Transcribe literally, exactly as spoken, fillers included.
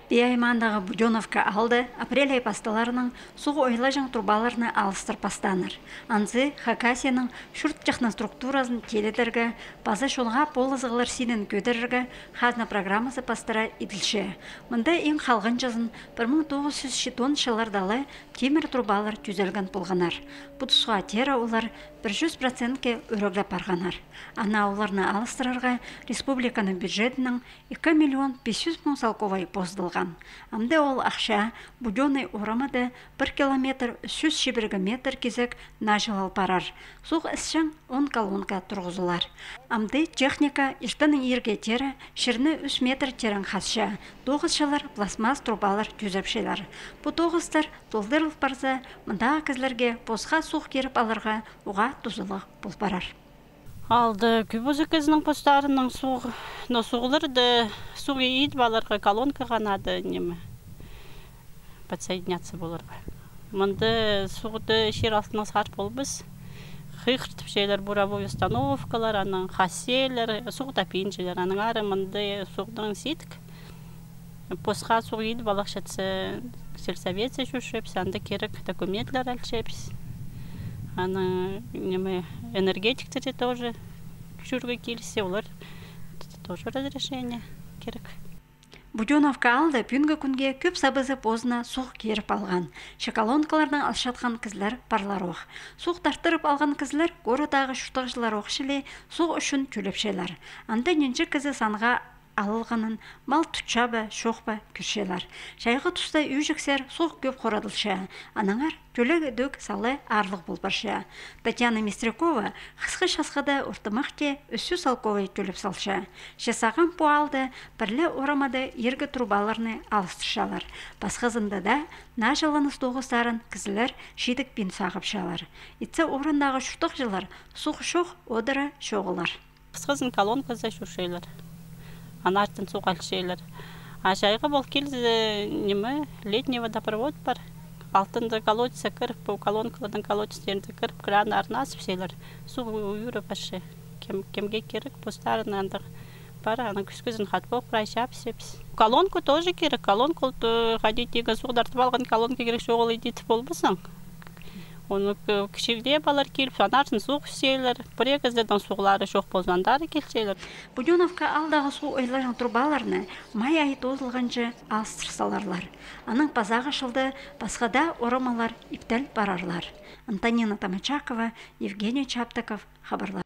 Пии аймаандағы Будённовка аалда апрель ай пасталарынаң суғ ойлаҷаң трубаларны алыстыр пастааннар. Анзы Хакасияның чурт техноструктуразын тилідерге паза чонға полызығлар синін кӧдірерге хазна программазы пастыра иділче. Мында иң халғанҷызын пір муң тоғыс чӱс читон чылларда ла тимір трубалар тӱзелген полғаннар. Пу тусха теере олар пір чӱс процентке ӱреглеп парғаннар. Ана оларны алыстырарға республиканың бюджетінең ікі миллион пис чӱс муң салковай позыдылған. Амды ол ахча Будённый орамада пір километр ӱс чӱс чибіргі метр кизек наа чыл ал парар. Суғ ісчең он колонка турғызылар. Амды техника иртеннең иирге теере чирні ӱс метр терең хасча. Тоғысчылар пластмасс трубалар тӱзепчелер. Пу тоғыстар толдырыл парза, мындағы кізілерге посха суғ киріп аларға уғаа тузалығ пол парар. Аалда кӧбізі кізінің постарының суғ, но суғларды, суғ идіп аларға колонкаға надо, ниме, подсоединяться поларға. Мында суғды чир алтынаң сығар полбас. Хығыртыпчалар буровой установкалар, анаң хасселер, суғ тапинчалар, анаң ары мында суғдаң сидік. Посха суғ идіп алахчатса, сельсоветсер чӧрчебіс, анда кирек документлер алчабыс. Анаң, ниме, энергетиктерге тоже чӧрерге киліссе, олар тоже разрешение кирек. Будённовка аалда пӱӱнгі кӱнге кӧп сабызы позына суғ киріп алған. Че колонкаларнаң алчатхан кізілер парлар ох. Суғ тартырып алған кізілер городтағы чуртағҷылар ох чіли суғ ӱчӱн тӧлепчелер. Анда нинҷе кізі санға алылғанын, мал тутча ба, чох па, кӧрчелер. Чайғы туста ӱҷіксер суғ кӧп хорадылча, аннаңар тӧлег ідӧк сала аарлығ пол парча. Татьяна Мистрякова хысхы часхыда ортымахти ӱс чӱс салковай тӧлеп салча. Че сағам пу аалда пір ле орамада ииргі трубаларны алыстырчалар. Пасхазында даа наа чылланыс тоғыстарын кізілер чидік пин сағыпчалар. Итсе орындағы чуртағҷылар суғ чох одыра чоғылар. Хысхызын колонказар чӧрчелер. Аннаңар суғ алчалар. А чайғы пол килзе, ниме, летний водопровод пар. Алтында колодецке кіріп, пу колонкаларның колодецтеріне кіріп, краннарын азыпчалар. Суғ ӱреп парча. Кем, кемге кирек, постарына андағ пар, анаң кӱскӱзін хатап прай чапчабыс. Колонка тоже кирек, колонка ол, э, хайди тигі суғ тартып алған колонка кирек, чоғыл иди тіп полбассың. Оны к-, кічіглеп алар киліп, аннаңар суғ ӱсчелер. Пірее кізілернің суғлары чох полза, андар килчелер. Будённовка аалдағы суғ ойлаҷаң трубаларны май ай тоозылғанҷа алыстыр саларлар. Анаң пазағы чылда пасха даа орамалар иптел парарлар. Антонина Томачакова, Евгений Чаптыков, хабарлар.